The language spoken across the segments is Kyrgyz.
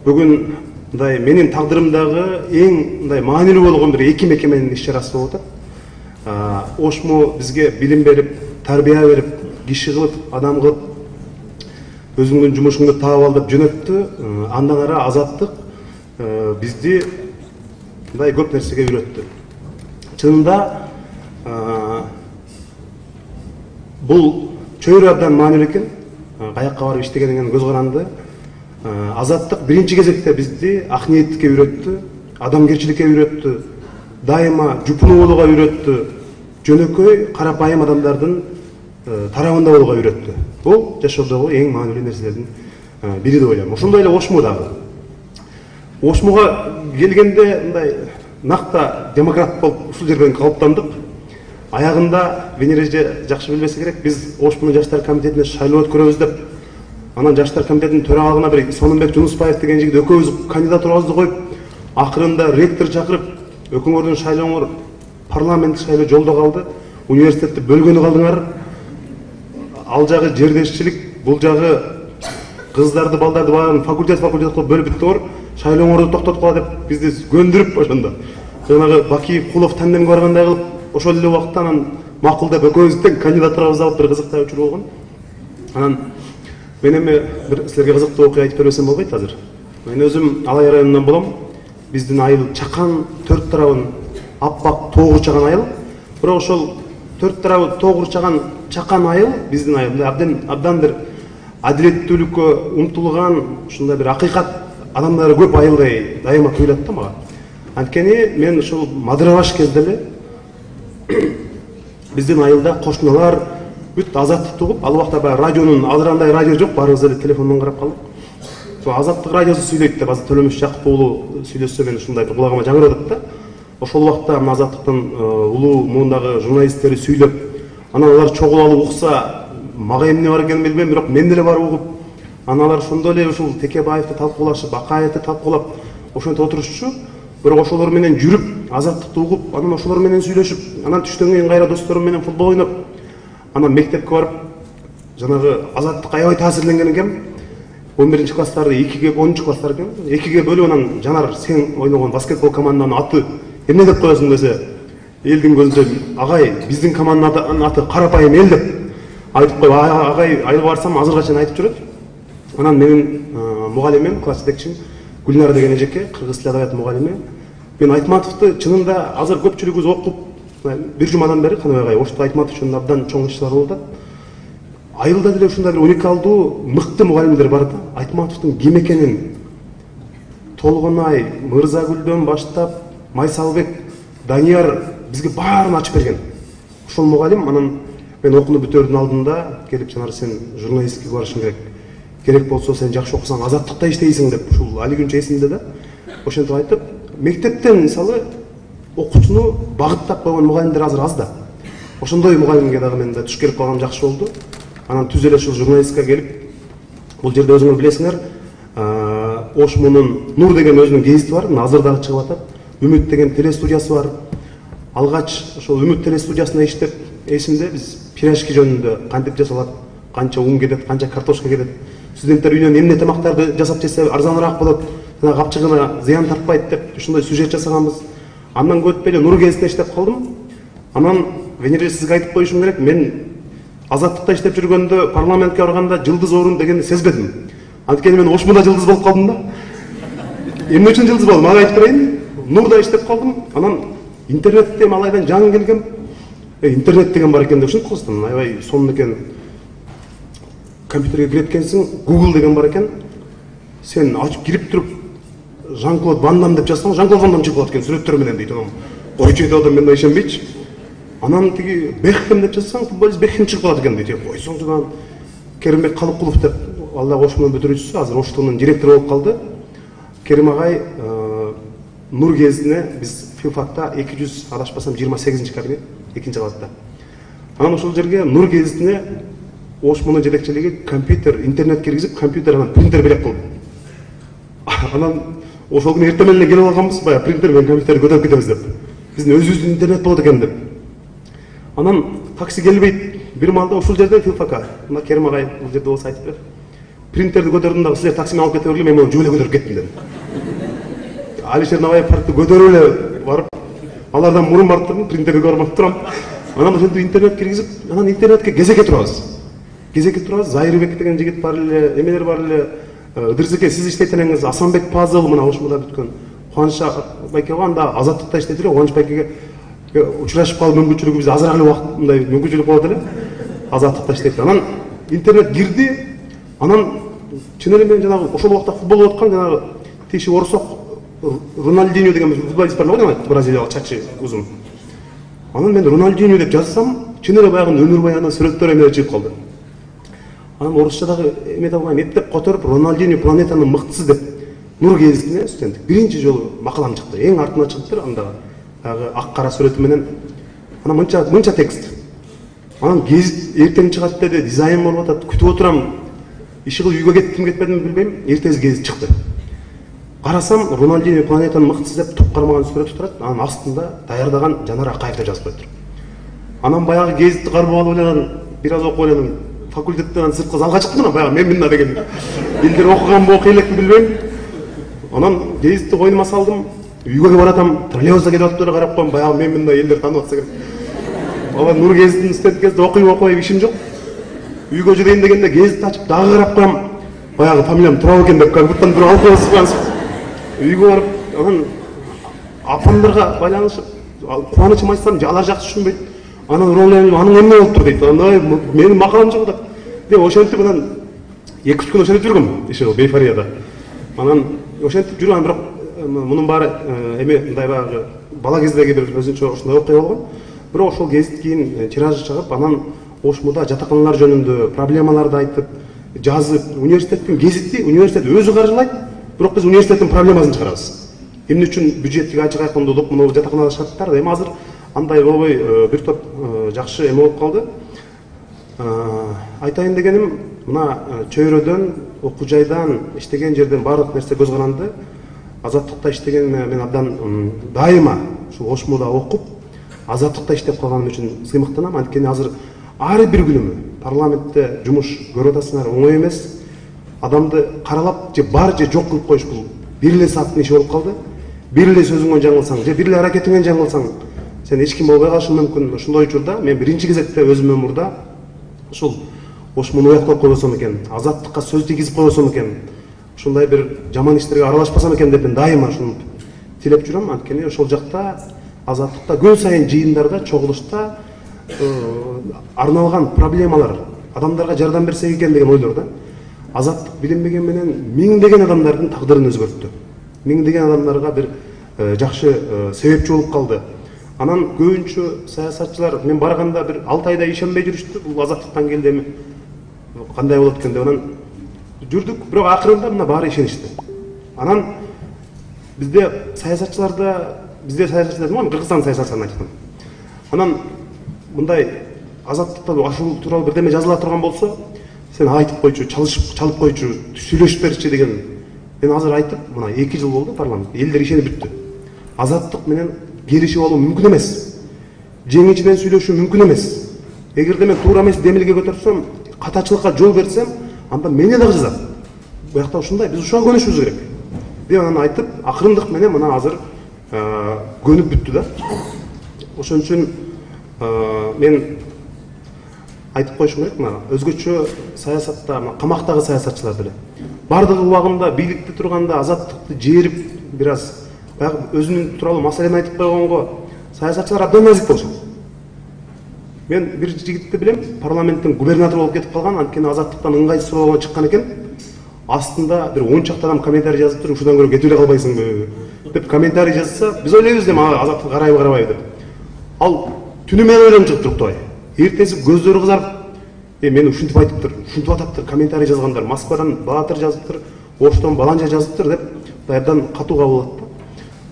бүгүн мындай менин тагдырымдагы эң мындай маанилүү болгон бир эки мекеменин иш чарасы болуп атат. ОШМУ бизге билим берип, тарбия берип, киши кылып, адам кылып, өзүңдүн жумушуңду таап ал деп жөнөттү. Андан ары Азаттык бизди мындай көп нерсеге үйрөттү. Чынында бул чөйрө абдан маанилүү экен. Каякка барып иштегенден көз каранды. Азаттык биринчи кезекте бизди ак ниеттикке үйрөттү, адамгерчиликке үйрөттү, дайыма жупунуу болууга үйрөттү, жөнөкөй карапайым адамдардын тарабында болууга үйрөттү. Бул жашоодогу эң маанилүү нерселердин бири деп ойлойм. Ошондой эле ОШМУ дагы. ОШМУга келгенде мындай накта демократ болуп ушул жерден калыптандык. Аягында Венера жакшы билбесе керек, биз ОШМУнун жаштар комитетине шайлоо өткөрөбүз деп, анан жаштар комитетинин төрагалыгына бир Сонунбек Жунусбаев деген жигит экөөбүз кандидатурабызды коюп, акырында ректор чакырып, өкүңөрдүн шайлооңор парламент шайлоо жолдо калды, университетти бөлгөнү калдыңар, ал жагы жердешчилик, бул жагы кыздарды, балдарды баарын факультет кылып бөлүп бүттүңөр, шайлооңорду токтотуп кала деп бизди көндүрүп ошондо. Жанагы Бакиев, Кулов тандемге баргандай кылып, ошол эле убакытта анан макул деп экөөбүздүн кандидатурабызды алып бир кызыктай учур болгон. Анан мен эми бир силерге кызыктуу окуя айтып бербесем болбойт азыр. Мен өзүм Алай районунан болом. Биздин айыл чакан, төрт тарабын аппак тоо курчаган айыл. Бирок ошол төрт тарабы тоо курчаган чакан айыл биздин айыл абдан бир адилеттүүлүккө умтулган, ушундай бир акыйкат адамдары көп айылдай дайыма туюлат да мага. Анткени мен ушул мадырабаш кезде эле биздин айылда кошуналар бүт Азаттыкты угуп, ал убакта баягы радионун азырандай радио жок, баарыбыз эле телефондон карап калдык. Ошо Азаттык радиосу сүйлөйт деп, азыр Төлөмүш Жакып уулу сүйлөсө мен ушундай бир кулагыма жаңырып атат да. Ошол убакта мына Азаттыктын улуу муундагы журналисттери сүйлөп, анан алар чогул алып укса, мага эмне бар экенин билбейм, бирок мен деле барып угуп, анан алар ошондой эле ушул Текебаевди талкуулашып, Акаевди талкуулап, ошентип отурушчу. Бирок ошолор менен жүрүп, Азаттыкты угуп, анан ошолор менен сүйлөшүп, анан түштөн кийин кайра досторум менен футбол ойноп, анан мектепке барып, жанагы Азаттыкка аябай таасирленген экенмин. 11 класстарды 2ге, 10 класстар экен, 2ге бөлүп, анан Жанар сен ойногон баскетбол команданын аты эмне деп коесуң десе, элдин көзүнчө агай биздин команданын аты Карапайым эл деп айтып коюп, агай айылга барсам азырга чейин айтып жүрөт. Анан менин мугалимим, класс жетекчим Гүлнара деген эжеке, кыргыз тил адабияты мугалими. Мен Айтматовду чынында азыр көпчүлүгүбүз окуп, бир жумадан бери Каныбай агай Ошту Айтматов үчүн абдан чоң иштер болуп атат. Айылда деле ушундай бир уникалдуу, мыкты мугалимдер бар да. Айтматовдун ким экенин Толгонай, Мырзагүлдөн баштап, Майсалбек, Данияр бизге баарын ачып берген. Ошол мугалим, анан мен окууну бүтөрдүн алдында келип, Жанар сен журналистикке барышың керек. Керек болсо сен жакшы окусаң Азаттыкта иштейсиң деп, ушул али күнчө эсимде да. Ошентип айтып, мектептен мисалы окуучуну багыттап койгон мугалимдер азыр аз да. Ошондой мугалимге дагы мен да туш келип калгам жакшы болду. Анан түз эле ушул журналистикага келип, бул жерде өзүңөр билесиңер, ОШМУнун Нур деген өзүнүн гезити бар, азыр дагы чыгып атат. Үмүт деген телестудиясы бар. Алгач ошол Үмүт телестудиясында иштеп, эсимде биз пирожки жөнүндө кантип жасалат, канча ун кетет, канча картошка кетет, студенттер үйүнөн эмне тамактарды жасап жесе арзаныраак болот, жана капчыгына зыян тартпайт деп ушундай сюжет жасаганбыз. Андан өтпөй эле Нур гезитте иштеп калдым. Анан Венера сизге айтып коюшум керек, мен Азаттыкта иштеп жүргөндө парламентке барганда жылдыз орун дегенди сезбедим. Анткени мен ОШМУда жылдыз болуп калдым да. Эмне үчүн жылдыз болдум? Ага айтып берейин. Нурда иштеп калдым. Анан интернетте малайдан жаңы келгем. Интернет деген бар экен деп ушинтип калдым. Аябай сонун экен. Компьютерге кире эткенсиң, Google деген бар экен. Сен ачып кирип туруп Жан-Клод Ван Дам деп жазсаң, Жан-Клод Ван Дам чыгып калат экен сүрөттөр менен дейт. Анан койчу деп адам мен ишенбейчи. Анан тиги Бекхем деп жазсаң, футболист Бекхем чыгып калат экен дейт. Койсоңчу Керимбек Калыкулов деп, ал да ОШМУнун бүтүрүүчүсү, азыр Оштунун директору болуп калды. Керим агай Нур гезитине биз филфакта 200 адашпасам 28 кабинет, 2-кабатта. Анан ошол жерге Нур гезитине ОШМУнун жетекчилиги компьютер, интернет киргизип, компьютерден принтер белек кылды. Анан ошол күнү эртең менен келип алганбыз, баягы принтер менен компьютерди көтөрүп кетебиз деп. Биздин өзүбүздүн интернет болот экен деп. Анан такси келбейт. Бир маалда ушул жерде филфака. Мына Керим агай бул жерде болсо айтып бер. принтерди көтөрдүм дагы силер таксимен алып кете бергиле, мен муну жүк эле көтөрүп кеттим дедим. Алишер Набаев паркты көтөрүп эле барып, алардан мурун барып турдум, принтерди көрүп турам. Анан ошентип интернет киргизип, анан интернетке кезекке турабыз. Кезекке турабыз. Зайырбек деген жигит бар эле, эмелер бар эле. Ыдырсеке сиз иштейт элеңиз, Асанбек Пазыл мына ошмуда бүткөн. Кубаныч байке анда Азаттыкта иштейт эле, Кубаныч байкеге учурашып калып мүмкүнчүлүгү бизде азыраак эле убакыт мындай мүмкүнчүлүк болот эле. Азаттыкта иштейт. Анан интернет кирди. Анан чын эле мен жанагы ошол убакта футбол болуп аткан жанагы тиши орсок Роналдиньо деген футболист бар го, бразилиялык чачы узун. Анан мен Роналдиньо деп жазсам, чын эле баягы өмүр баяны сүрөттөр эмелер чыгып калды. Анан орусчадагы эме табылган, эптеп которуп Роналдиньо планетанын мыктысы деп Нур гезитине студент биринчи жолу макалам чыкты. Эң артына чыгыптыр андагы ак кара сүрөтү менен. Анан мынча текст. Анан гезит эртең чыгат деди, дизайн болуп атат, күтүп отурам. Иши кылып үйгө кеттим, кетпедимби билбейм. Эртеси гезит чыкты. Карасам, Роналдиньо планетанын мыктысы деп туп кармаган сүрөтү турат. Анан астында даярдаган Жанар Акаев деп жазып коюптур. Анан баягы гезитти кармап алып эле бир аз окуп элем. Факультеттен сырткы залга чыктым, анан баягы мен мында деген элдер окуганбы, окуй элекпи билбейм. Анан гезитти койнума салдым. Үйгө баратам, троллейбуста кетип атып эле карап коем, баягы мен мында элдер таанып атса керек. Алар Нур гезитин студент кезде окуйбай ишим жок. Үйгө жүрөйүн дегенде гезитти ачып дагы карап коем. Баягы фамилиям Турал экен деп кабуттан бир алып коесуз. Үйгө барып, анан апамдарга байланышып, кубанычым айтсам, алар жакшы түшүнбөйт. Анан Роналдиньо анын эмне болуптур дейт. Анан менин макалам жок деп ошентип анан 2-3 күн ошентип жүргөм, иши Бейфарияда. Анан ошентип жүргөм, бирок мунун баары эме мындай баягы бала кездеги бир өзүнчө ушундай окуя болгон. Бирок ошол гезит кийин тиражы чыгып, анан Ошмуда жатаканалар жөнүндө проблемаларды айтып, жазып, университеттин гезити университет өзү каржылайт, бирок биз университеттин проблемасын чыгарабыз. Эмне үчүн бюджеттик ачык айкындуулук, муну жатаканада шарттар, эми азыр андай болбой бир топ жакшы эме болуп калды. Айтайын дегеним, мына чөйрөдөн, окуу жайдан, иштеген жерден баардык нерсе көз каранды. Азаттыкта иштеген мен абдан дайыма ушул Ошмуда окуп, Азаттыкта иштеп калганым үчүн сыймыктанам. Анткени азыр ар бир күнүмү парламентте жумуш көрүп атасыңар, оңой эмес. Адамды каралап же бар же жок кылып коюш бул бир эле сааттын иши болуп калды. Бир эле сөзүңөн жаңылсаң же бир эле аракетиңен жаңылсаң, сен эч ким болбой калышың мүмкүн. Ошондой учурда мен биринчи кезекте өзүмдүн мурда ушул Ошмуну уяктап койбосом экен, азаттыкка сөз тийгизип койбосом экен, ушундай бир жаман иштерге аралашпасам экен деп мен дайыма ушуну тилеп жүрөм. Анткени ошол жакта азаттыкта күн сайын жыйындарда, чогулушта арналган проблемалар адамдарга жардам берсек экен деген ойлор да. Азаттык билинбеген менен миңдеген адамдардын тагдырын өзгөрттү. Миңдеген адамдарга бир жакшы себепчи болуп калды. Анан көбүнчө саясатчылар мен барганда бир 6 айда ишенбей жүрүштү. Бул азаттыктан келди эми кандай болот экен деп анан жүрдүк, бирок акырында мына баары ишеништи. Анан бизде саясатчылар дедим, Кыргызстан саясатчыларын айттым. Анан мындай азаттыкта ашуу тууралуу бирдеме жазыла турган болсо, сен айтып койчу, чалып койчу, сүйлөшүп берчи деген. Мен азыр айтып, мына 2 жыл болду парламент, элдер ишенип бүттү. Азаттык менен келишип алуу мүмкүн эмес. Жеңичинен сүйлөшүү мүмкүн эмес. Эгерде мен туура эмес демилге көтөрсөм, катачылыкка жол берсем, анда мени дагы жазат. Буякта ушундай, биз ушуга көнүшүбүз керек. Деп анан айтып, акырындык менен мына азыр көнүп бүттү да. Ошон үчүн мен айтып коюшум керек, мына өзгөчө саясатта, камактагы саясатчылар деле бардыгы убагында бийликте турганда азаттыкты жээрип, бир аз баягы өзүнүн тууралуу маселени айтып койгонго саясатчылар абдан назик болушат. Мен бир жигитти билем, парламенттин губернатору болуп кетип калган, анткени азаттыктан ыңгайсыз болгон чыккан экен. Астында бир 10 чакты адам комментарий жазыптыр, ушудан көрө кетип эле калбайсыңбы деп комментарий жазса, биз ойлойбуз дем азаттык карайбы карабайбы деп. Ал түнү менен ойлонуп чыгып туруктабай. Эртеси көздөрү кызарып, мени ушинтип айтыптыр, ушинтип атаптыр, комментарий жазгандар, Москвадан Баатыр жазыптыр, Оштон Баланча жазыптыр деп абдан катуу кабыл алат да.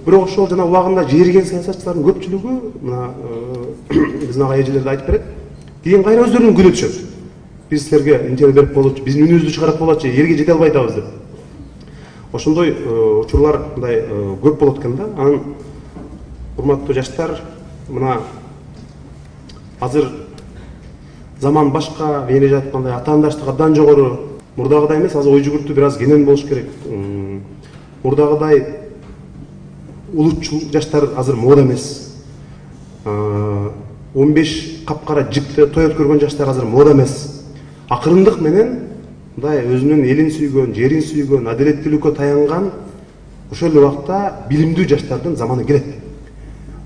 Бирок ошол жана убагында жээрген саясатчылардын көпчүлүгү мына биздин ага эжелерди айтып берет. Кийин кайра өздөрүнүн күнү түшөт. Биз силерге интервью берип болочу, биздин үнүбүздү чыгарат болочу, элге жете албай атабыз деп. Ошондой учурлар мындай көп болот экен да. Анан урматтуу жаштар, мына азыр заман башка, эле жаткандай атаандаштык абдан жогору. мурдагыдай эмес, азыр ой жүгүртүү бир аз кенен болуш керек. Мурдагыдай улутчул жаштар азыр мода эмес. 15 капкара жикте той өткөргөн жаштар азыр мода эмес. Акырындык менен мындай өзүнүн элин сүйгөн, жерин сүйгөн, адилеттүүлүккө таянган ошол эле убакта билимдүү жаштардын заманы келет.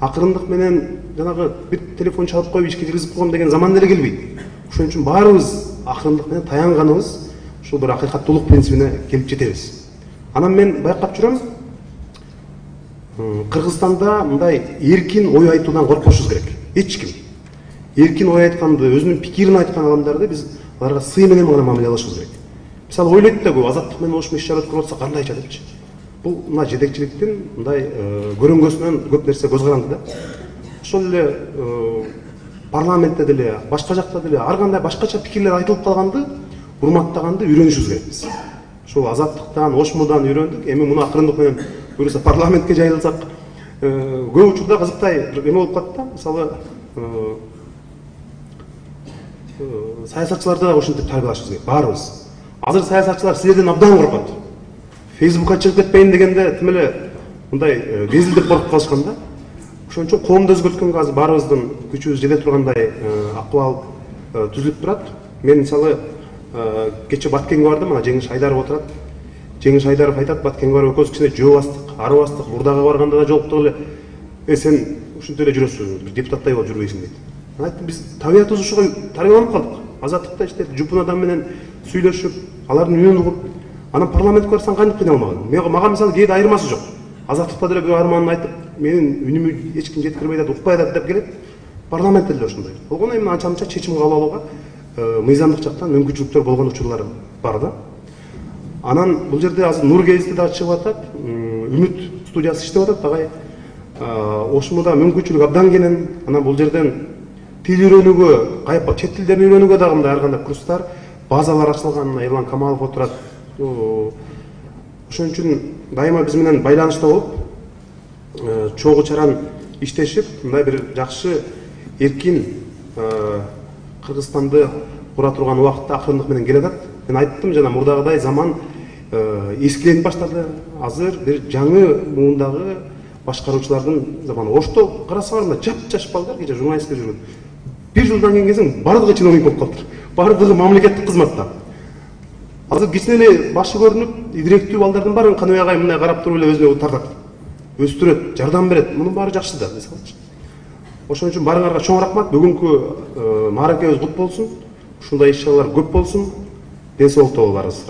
Акырындык менен жанагы бир телефон чалып коюп ишке киргизип койгом деген заман деле келбейт. Ошон үчүн баарыбыз акырындык менен таянганыбыз ушул бир акыйкаттуулук принцибине келип жетебиз. Анан мен байкап жүрөм, Кыргызстанда мындай эркин ой айтуудан коркпошубуз керек. Эч ким эркин ой айтканды, өзүнүн пикирин айткан адамдарды биз аларга сый менен гана мамиле кылышыбыз керек. Мисалы ойлойт да, азаттык менен ошмо иш-чара өткөрүп атса кандайча депчи. Бул мына жетекчиликтин мындай көрөнгөсүнөн көп нерсе көз каранды да. Ошол эле парламентте деле, башка жакта деле ар кандай башкача пикирлер айтылып калганды урматтаганды үйрөнүшүбүз керекпиз. Ошол азаттыктан, ошмудан үйрөндүк. Эми муну акырындык менен буюрса парламентке жайылсак, көп учурда кызыктай эме болуп калат да. Мисалы саясатчыларды да ошентип тарбиялашыбыз керек, баарыбыз. Азыр саясатчылар силерден абдан коркот. Фейсбукка чыгып кетпейин дегенде тим эле мындай безилдеп коркуп калышкан да. Ошон үчүн коомду өзгөрткөнгө азыр баарыбыздын күчүбүз жете тургандай акыбал түзүлүп турат. Мен мисалы кече Баткенге бардым, мына Жеңиш Айдаров отурат. Жеңиш Айдаров айтат, Баткенге барып экөөбүз кичине жөө арыбастык, Бурдага барганда да жолуктук эле. Сен ушинтип эле жүрөсүң, бир депутаттай болуп жүрбөйсүң дейт. Мен айттым, биз табиятыбыз ушуга тарбияланып калдык. Азаттыкта иштеп, жупун адам менен сүйлөшүп, алардын үнүн угуп, анан парламентке барсаң кантип кыйнала алмаган? Мага мисалы кээде айырмасы жок. Азаттыкта деле бир арманын айтып, менин үнүмү эч ким жеткирбей атат, укпай атат деп келет. Парламентте деле ошондой. Болгону эми анча-мынча чечим кабыл алууга мыйзамдык жактан мүмкүнчүлүктөр болгон учурлар бар да. Анан бул жерде азыр Нур гезити да чыгып атат, Үмүт студиясы иштеп атат, агай. Ошмуда мүмкүнчүлүк абдан кенен. Анан бул жерден тил үйрөнүүгө, чет тилдерин үйрөнүүгө дагы мындай ар кандай курстар, базалар ачылган. Эрлан Камалов отурат. Ошон үчүн дайыма биз менен байланышта болуп, чогуу чаран иштешип, мындай бир жакшы эркин Кыргызстанды кура турган убакытта акырындык менен келе атат. Мен айттым, жана мурдагыдай заман эскиленип баштады. Азыр бир жаңы муундагы башкаруучулардын заманы. Ошто карасаңар, мына жап-жаш балдар, кече журналистке жүргөн. Бир жылдан кийин келсең, бардыгы чиновник болуп калыптыр. Бардыгы мамлекеттик кызматта. Азыр кичине эле башы көрүнүп, идиректүү балдардын баарын Каныбай агай мындай карап туруп эле өзүнө тартат. Өстүрөт, жардам берет. Мунун баары жакшы да, мисалычы. Ошон үчүн барыңарга чоң рахмат. Бүгүнкү мааракебиз кут болсун. Ушундай иш-чаралар көп болсун. Ден соолукта болуңарыңыз.